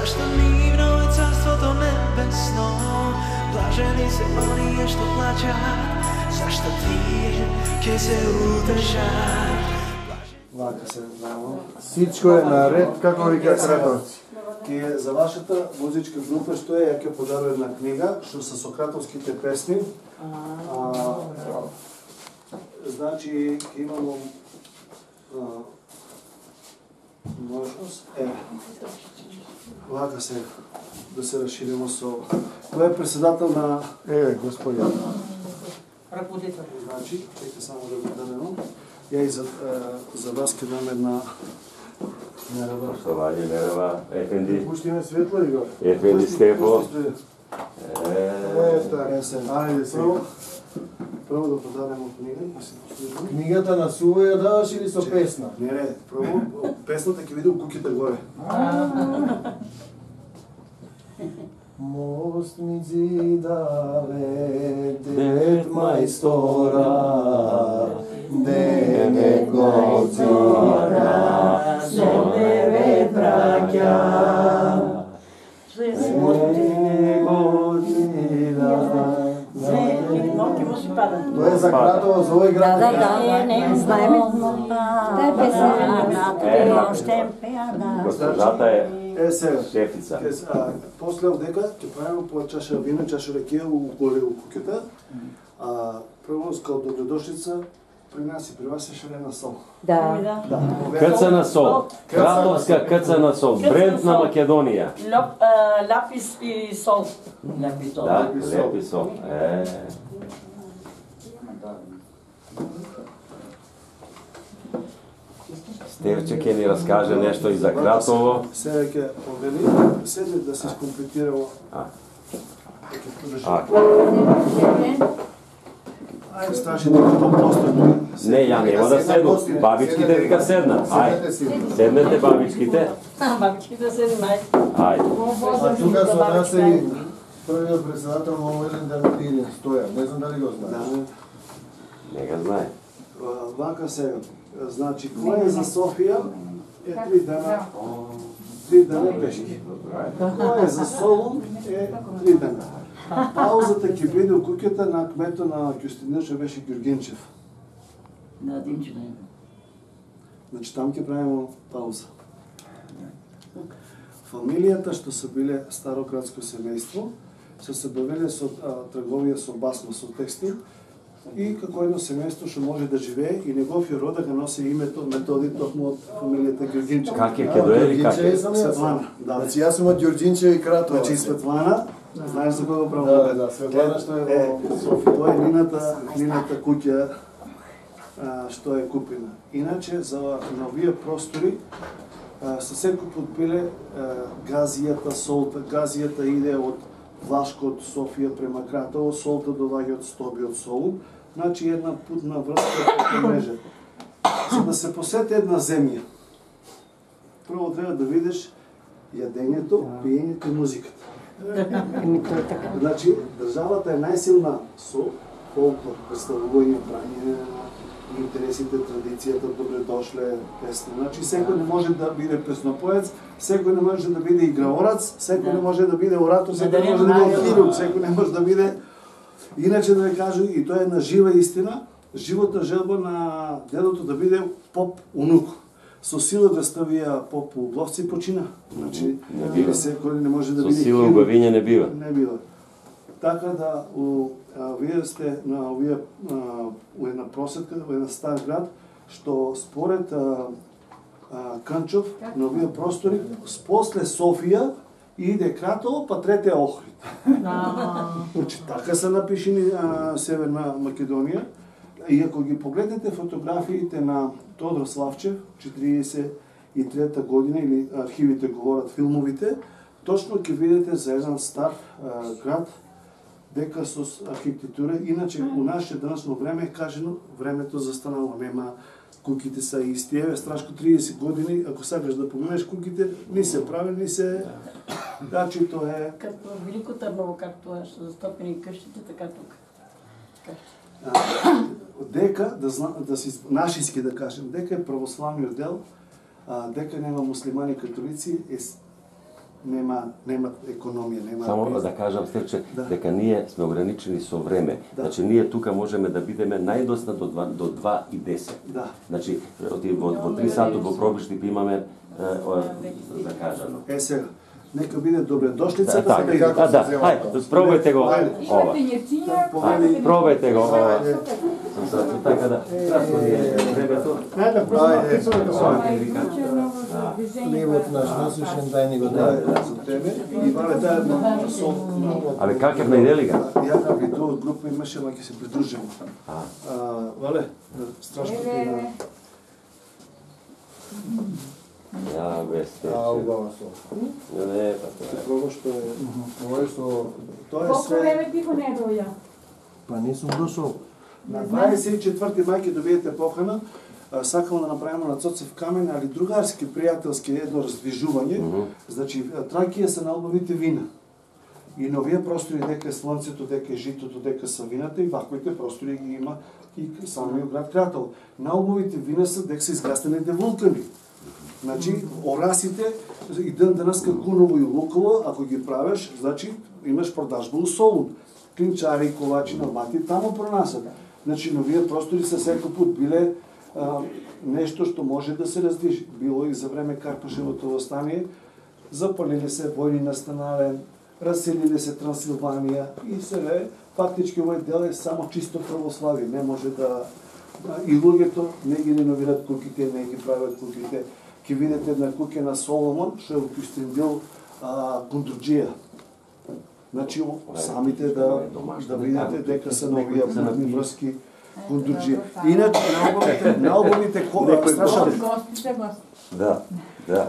Зашто нивно е царството небесно, блажени се оние што плачат, зашто тие ќе се утешат. Вака се знамо. Сичко е наред, како вика Кратовци. Ке за вашата музичка група што е, ја ќе подарува една книга што се сократовските песни. Значи имамо можност вака се да се расширимо со кој е председател на Господин. Ръководител. Значи, чека само да го дадем. Ја и за вас ќе дам една мерава. Поштовање мерава, Ефенди. Пуштиме светло и го. Ефенди Стефо. Така. Ајде сега. Прво да подаримо книга. Книгата на Сува ја даваш или со песна? Не, прво песната ќе види у куќите горе. Мост ми зидаве, дед мајстора, дене гоцира, со тебе браќа. Тоа е за Кратово, за овој град. Знаеме. Госпожата е сега. шефица. После дека ќе правиме по чаша вино, чаша ракија горе у куќата. Прво као добредошлица при нас и при вас е шарена сол. Да. Кцна сол. Кратовска кцна сол. Бренд на Македонија. Лапис и сол. Да, лепи сол. Стевче ќе ни раскаже нешто и за Кратово. Сега ќе повели, седне да се скомплетирало. Ајде, страши дека тоа постои. Не, ја нема да седу. Бабичките вика седнат. Ајде, седнете бабичките. Бабичките седнат. Ајде. А тука со нас е првиот председател на Овелен Дамирилин Стоја. Не знам дали го знаеш. Не го знае. Вака сега. Значи, кој е за Софија е 3 дена. 3 дена пешки. Кој е за Солун е 3 дена. Паузата ќе биде у куќата на кмето на Кюстендил, што беше Ѓургенчев. На Димчина. Значи, там ќе правиме пауза. Фамилијата што се биле старократско семејство, се бавеле со трговија со басма, со текстил, и како едно семејство што може да живее и неговиот род да носи името Методи токму од фамилијата Ѓургенчев. Как е, ке доели, как е? Светлана. Значи јас сум од Ѓурџинчево и Кратово. Значи Светлана, знаеш за кој го правам? Да, Светлана што е во Софија. Тоа е нината куќа што е купена. Иначе за на овие простори се секој пат биле газијата, солта. Газијата иде од Влашко, од Софија према Кратово, солта доаѓа од Стоби, од Солун. Значи една путна врска по мрежа. За да се посети една земја, прво треба да видиш јадењето, пиењето и музиката. Значи, државата е најсилна со фолклор, представување, прање, интересите, традицијата, добре дошле, песни. Значи, секој не може да биде песнопоец, секој не може да биде играорац, секој не може да биде оратор, секој не може да биде хирург, секој не може да биде... Иначе да ви кажу, и тоа е една жива истина, живота желба на дедото да биде поп унук. Со сила да ставија поп у Бловци почина. Значи, секој не може да биде хирург. Со сила убавиње не бива. Не бива. Така да, вие сте на овие у една просетка, во една стар град, што според Канчов, на овие простори, после Софија иде Кратово, па трете Охрид. Значи, така се напишени Северна Македонија. И ако ги погледнете фотографиите на Тодор Славчев, 43 година, или архивите говорат, филмовите, точно ќе видите за еден стар град, дека со архитектура, иначе у наше данасно време е кажено, времето застанало, нема, куќите се исти. Еве, страшко 30 години, ако сакаш да погледнеш куќите, ни се прави, ни се... Значи, тоа е... Като Велико Трново, както е, што застопени къщите, така тук. Дека, да си нашиски да кажем, дека е православниот дел, дека нема муслимани католици, нема економија, нема. Само да кажам Стефче, дека ние сме ограничени со време. Значи ние тука можеме да бидеме најдосна до 2:10. Да. Значи во 3 сати во пробишти имаме закажано. Сега, нека биде добредошлица Да, ајде, пробајте го ова. Пробајте го ова. Така да, кратко ни е времето. Хлебот наш насушен, дај ни го дај. За тебе и вале дај сол. Абе, какев најдели га? Ја да виду од група имаше, ма ќе се придружиме. Вале, страшно ти на... Ја, без Убава сол. Не, па тоа е. Пробаш што е... Ова е со... Тоа е Колку све... време ти го не доја? Па нисум дошол. На 24 мај ќе добиете покана. Сакам да направиме на Цоцев камен, али другарски, пријателски едно раздвижување. Значи, Тракија се на албовите вина. И на овие простори дека е слонцето, дека е житото, дека са вината, и ваквите простори ги има и самиот град Кратово. На албовите вина се дека се изгастените вулкани. Значи, орасите и ден денеска Куново и Луково, ако ги правиш, значи имаш продажба у Солун. Клинчари, ковачи на вати, тамо пронасат. Значи, на овие простори се секој пат биле нешто што може да се раздвижи. Било и за време Карпашевото восстание, запалили се, војни настанале, раселили се Трансилванија и сега фактички овој дел е само чисто православие. Не може да... И луѓето не ги реновират куќите, не ги правят куќите. Ке видите една куќа на Соломон, што е во Кюстендил Кундрџија. Значи, самите да видите дека се на овие путни врски Кундрџија. Иначе, на албумите страшно... Да,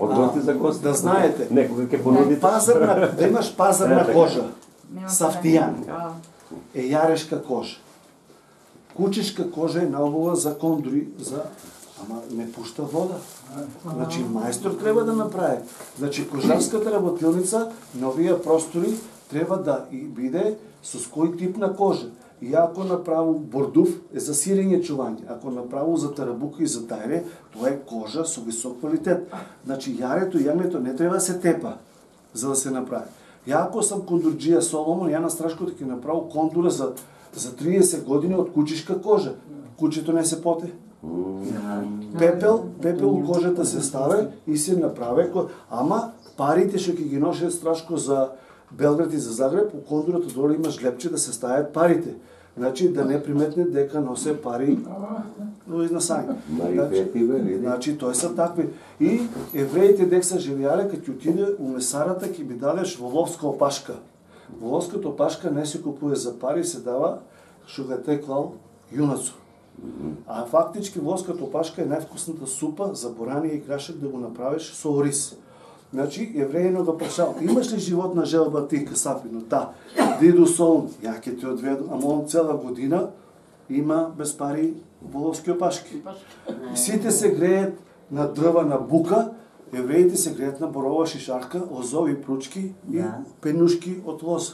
од гости за гости. Да знаете, некога ќе понудите. Да имаш пазарна кожа, сафтијан, е јарешка кожа. Кучешка кожа е наубава за кондури, ама не пушта вода. Значи, мајстор треба да направи. Значи, кожарската работилница на овие простори треба да и биде со кој тип на кожа. И ако направу бордув е за сирење чување, ако направу за тарабука и за тајре, тоа е кожа со висок квалитет. Значи, јарето и јагнето не треба да се тепа за да се направи. Ја ако сам Кундрџија Соломон, ја на Страшкото ќе направу кондура за 30 години од кучешка кожа. Кучето не се поте. Пепел у кожата се ставе и се направи, ама парите што ќе ги ноше Страшко за Белград и за Загреб, у кондурата доле има жлепче да се ставят парите. Значи да не приметне дека носе пари изнасање. Значи тој се такви. И евреите дека се живеале, кога ќе отиде у месарата, ќе би дадеш воловска опашка. Воловската опашка не се купува за пари, се дава што го теклал јунацо. А фактички воловската опашка е највкусната супа за борање и крашак да го направиш со ориз. Значи, еврејно го прашал, имаш ли животна желба ти, Касапино? Да. Диду Солун, ја ќе ти одведу, ама он цела година има без пари воловски опашки. Сите се греет на дрва на бука, евреите се греет на борова шишарка, озови пручки и пенушки од лоза.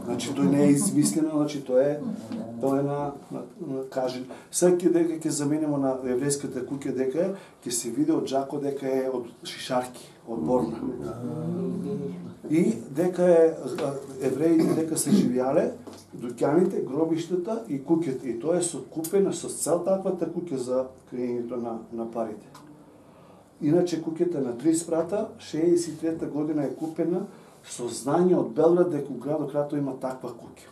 Значи, тој не е измислено, значи, тој е на кажен. Секи дека ќе заменимо на еврејската куќа дека ќе се види од Жако дека е од шишарки, од борна. И дека евреите дека се живеале, дуќаните, гробиштата и куќата. И тоа е сокупено со цел таквата куќа за крејењето на парите. Иначе куќата на 3 спрата, 63 година е купена со знање од Белград дека у градот Кратово има таква куќа.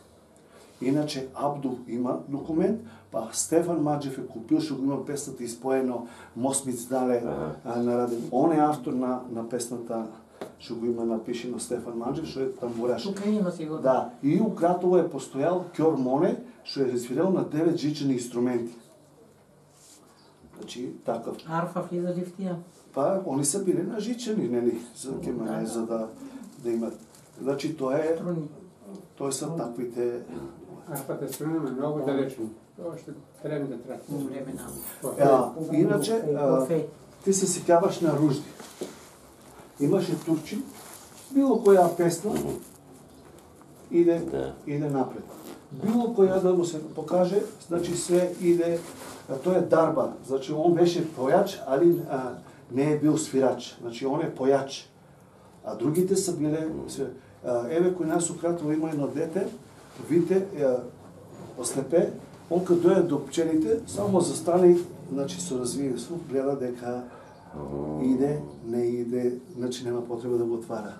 Иначе Абдул има документ, па Стефан Маџев е купил, што го има песната испоено Мосмиц дале нараден. Он е автор на песната што го има напишено Стефан Маџев, што е тамбураш. Тука има сигурно. Да, и у Кратово е постојал Кјор Моне, што е свирел на 9 жичени инструменти. Значи, такав. Арфа влиза ли в тија? Па, они са били на жичени, нели, за да имат. Значи, тоа се таквите... Арфата струна е многу далечно. Тоа што треба да трае. Иначе, ти се сеќаваш на Ружди. Имаше турчин, било која песна иде напред. Било која да му се покаже, значи се иде, тоа е дарба, значи он беше појач, али не е бил свирач, значи он е појач. А другите са биле еве кој нас у Кратово има едно дете, видите, ослепе, он кога дојде до пчелите, само застане, значи со развиен слух, гледа дека иде, не иде, значи нема потреба да го отвара.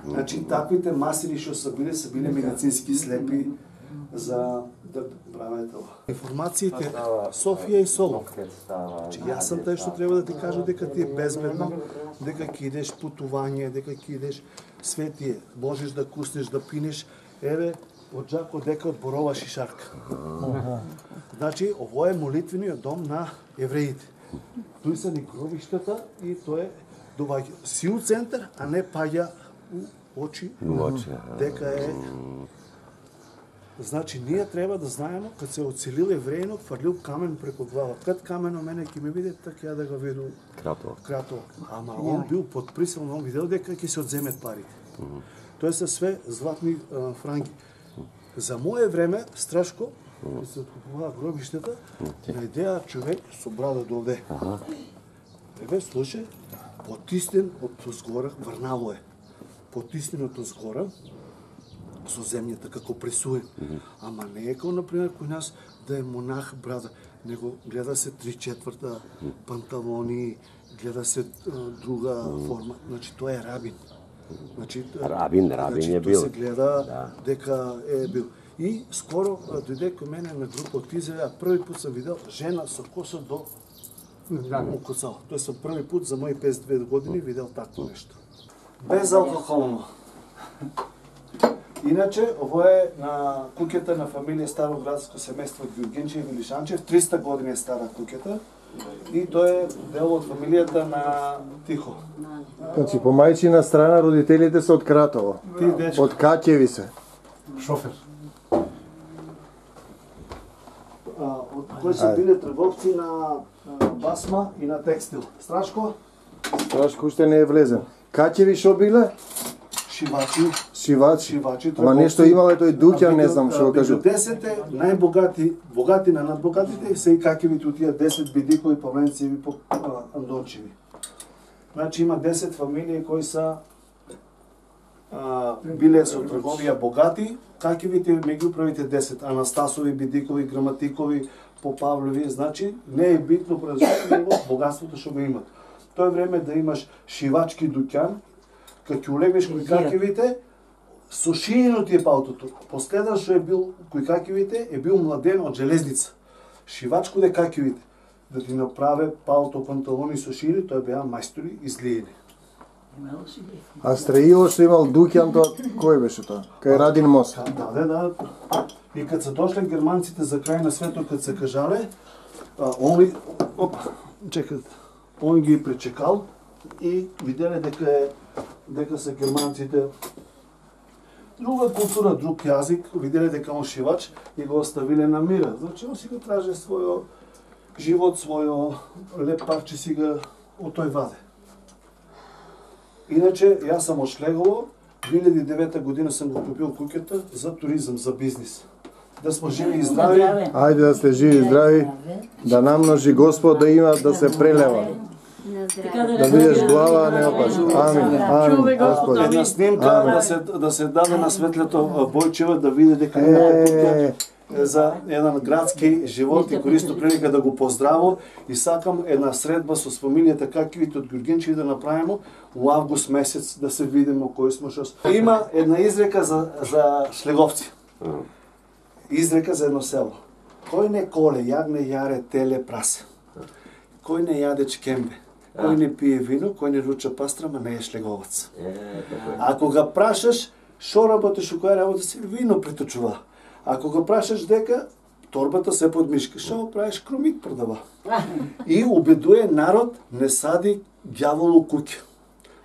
Значи таквите масири што са биле медицински слепи за да прават ова. Информациите Софија и Солун. Јас сум тај што треба да ти кажа дека ти е безбедно, дека ќе идеш путување, дека ќе идеш светие, можеш да куснеш, да пинеш, еве од Жако дека од борова шишарка. Значи, ово е молитвениот дом на евреите. Тој се ни гробиштата и тоа е доваѓа сил центар, а не паѓа у очи дека е. Значи, ние треба да знаеме, кад се оцелил евреинот, фрлил камен преку глава. Кад камено мене ќе ми види, така ја да го виду Кратово. Ама он бил под присил, он видел дека ќе се одземет парите. Тоа се све златни франки. За мое време, Страшко, кога се откупува гробиштата, најдеа човек со брада довде. Еве, слушај, потиснен од згора, врнало е. Потиснен од згора, со земјата како пресуен. Ама не е како, например, кој нас да е монах брада, него гледа се 3/4 панталони, гледа се друга форма. Значи, тоа е рабин. Значи, рабин е бил. Тоа се гледа дека е бил. И скоро дојде кај мене на група од Израел, први пат сам видел жена со коса до укоцало. Тоа сам први пат за мои 52 години видел такво нешто. Безалкохолно. Иначе, ово е на куќата на фамилија Староградско семејство Ѓурѓенчев и Лишанчев, 300 години е стара куќата. И тоа е дел од фамилијата на Тихо. Значи, по мајчина страна родителите се од Кратово. Од Каќеви се. Шофер. Од кои се биле трговци на басма и на текстил. Страшко? Страшко уште не е влезен. Каќеви шо биле? Шивачи. Ама нешто имале тој Дуќан, не знам што кажу. 10 богати на надбогатите се и Каќевите од тие 10 бидикови, Павленцеви, Андончеви. Значи има 10 фамилии кои са биле со трговија богати, Каќевите меѓу првите 10, Анастасови, Бидикови, Граматикови, Попавлеви, значи не е битно производство, богатството што го имат. Тоа е време да имаш шивачки дуќан, кога ќе улегнеш кој Каќевите, со шиено ти е паутото. Последен што е бил кој Каќевите е бил младен од железница. Шивачко де Каќевите, да ти направе пауто панталони со шири, тоа беа мајстори изгледени. А строило што имал Дуќан, тоа кој беше тоа? Кај Радин мост. Да. И кад се дошле германците за крај на светот, кад се кажале, он ги пречекал и виделе дека се германците друга култура, друг јазик, виделе дека он шивач и го оставиле на мира. Значи он си го траже својо живот, својо леп парче си го од тој ваде. Иначе, јас сам од Шлегово, 2009 година сам го купил куќата за туризам, за бизнис. Да сме живи и здрави. Ајде да сте живи и здрави, да намножи Господ да има да се прелева. Да видиш глава, а не опаш. Амин, Господи. Една снимка да се даде на светлето Бојчева да види дека имате куќа за еден градски живот и користо прилика да го поздраво и сакам една средба со фамилијата Каќевите од Ѓурѓенчеви да направиме у август месец да се видиме кои сме што. Има една изрека за шлеговци. Изрека за едно село. Кој не коле, јагне, јаре, теле, прасе. Кој не јаде чкембе, кој не пие вино, кој не руча пастрама, не е шлеговац. Ако ga прашаш, шо работиш у која работа си, вино приточува. Ако го прашаш дека торбата се под мишка, шо правиш, крумит продава. И убедуе народ не сади ѓавол у куќа.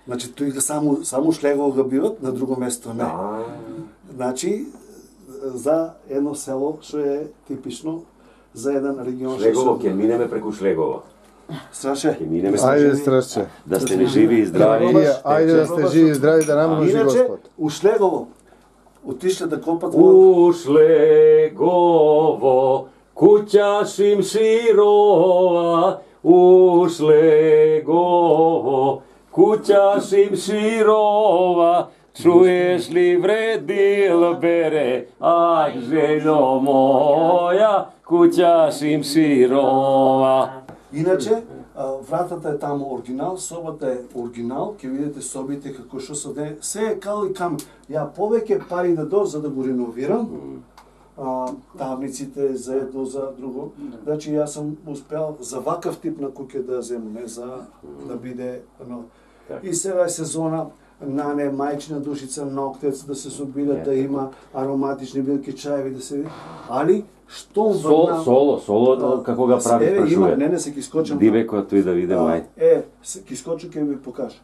Значи тој само шлегово го биват, на друго место не. Значи за едно село што е типично за еден регион. Шлегово, ќе минеме преку Шлегово. Страше. Ќе минеме. Ајде, Страше. Да сте ли живи и здрави. Ајде да сте живи и здрави, да намножи Господ. Иначе, у Шлегово отишле да копат У Шлегово, куќа шим широва, у Шлегово, куќа шим широва. Родино моја, куќа шимширова. Иначе, вратата е таму оригинал, собата е оригинал, ќе видите собите како што се е кал и кам. Ја повеќе пари да дадам за да го реновирам, тавниците за едно, за друго. Значи јас сум успел за вакав тип на куќе да земам, не за да биде И сега е сезона нане, мајчина душица, ноктец да се собират, да има ароматични билки, чаеви да се види. Али што соло како го прави прашува. Не се ќе скочам. Дивеко тој да види мај. Ќе скочам ќе ви покажа.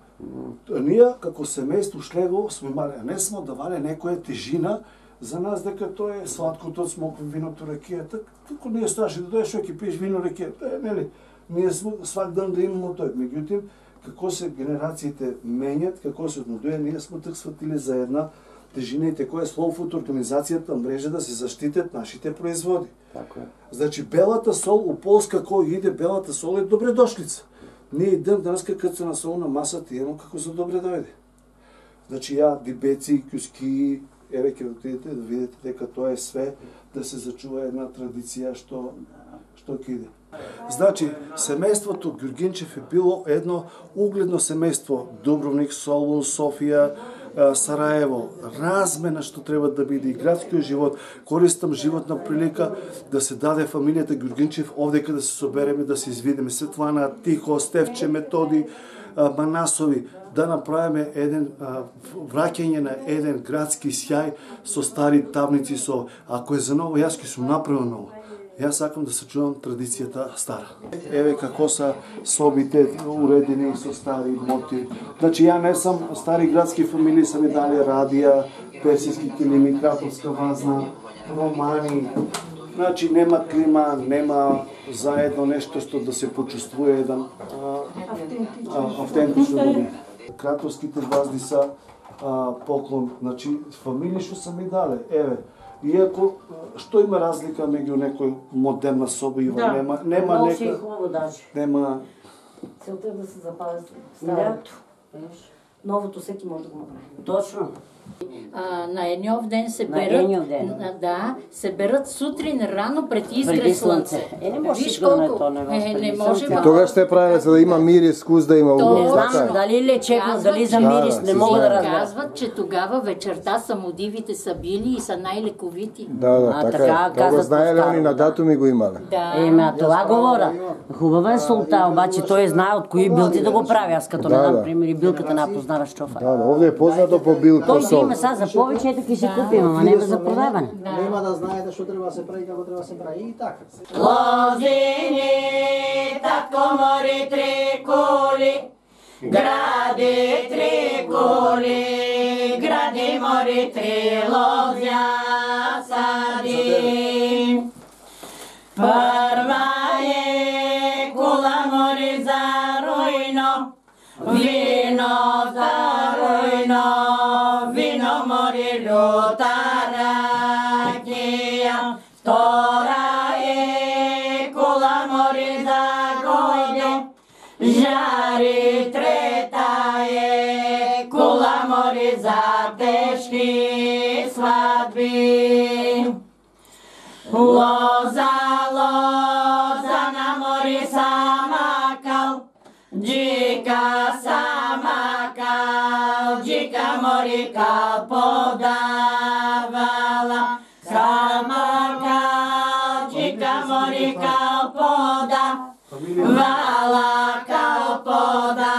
Ние како семејство Шлегов сме имали, не смо давале некоја тежина за нас дека тоа е сладкото, смоква, виното, ракијата. Како не е страшно да дојдеш ќе пиеш вино, ракијата, нели? Ние сме свак ден да имаме тој. Меѓутоа, како се генерациите менјат, како се однодуе, ние сме так сватили за една тежина и која е Слоуфуд организацијата мрежа да се заштитат нашите производи. Така е. Значи белата сол у Полска кој иде белата сол е добре дошлица. Ние и ден денес кога се насол на масата имам како за добре дојде. Значи ја дибеци, куски, еве ќе отидете да видите дека тоа е све да се зачува една традиција што ќе иде. Значи, семејството Ѓурѓинчев е било едно угледно семејство. Дубровник, Солун, Софија, Сараево, размена што треба да биде и градскиот живот. Користам животна прилика да се даде фамилијата Ѓурѓинчев овдека да се собереме, да се извидиме. Светлана, Тихо, Стефче, Методи, Манасови, да направиме еден враќање на еден градски сјај со стари табници, со ако е за ново, јас ќе сум направил ново. Јас сакам да сачувам традицијата стара. Еве како са собите уредени со стари мотиви. Значи ја не сам стари градски фамилии, са ми дали радија, персиски килими, краповска вазна, романи. Значи нема клима, нема заедно нешто што да се почувствува еден автентично да биде. Краповските вазди са поклон, значи фамилии што са ми дали. Еве, иако, што има разлика меѓу некој модерна соба и нема нека... Нема... Целта е да се запази старото. Новото секи може да го направи. Точно. На Енјов ден се берат, да, се берат сутрин рано пред изгрев слънце. Не може да не то, не може. И тогаш ще правиле за да има мирис, вкус да има угол. Не знам дали лечебно, дали за мирис, не мога да разбера. Казват, че тогава вечерта самодивите са били и са най-лековити. Да, така е. Това знаеле они на датуми го имале. Ема, това говоря. Хубава е солта, обаче той знае от кои билки да го прави. Аз като не знам, пример, и билката не познаваш чофа. Да, овде е познато по билка сол. Има сега за повече, ето ки си купим, ама нема за продаване. Нема да знаете што треба да се прави, како треба да се прави и така. Лозини, татко мори три кули, гради три кули, гради мори три лозја сади. Прва е кула мори за рујно, вино за рујно, вино мори люта ракија. Втора е кула мори за гојде, жари. Трета е кула мори за тешки свадби. Лоза, лоза на мори самакал, джика самакал, джика мори кал подавала. Самакал, джика мори кал подавала, кал подавала.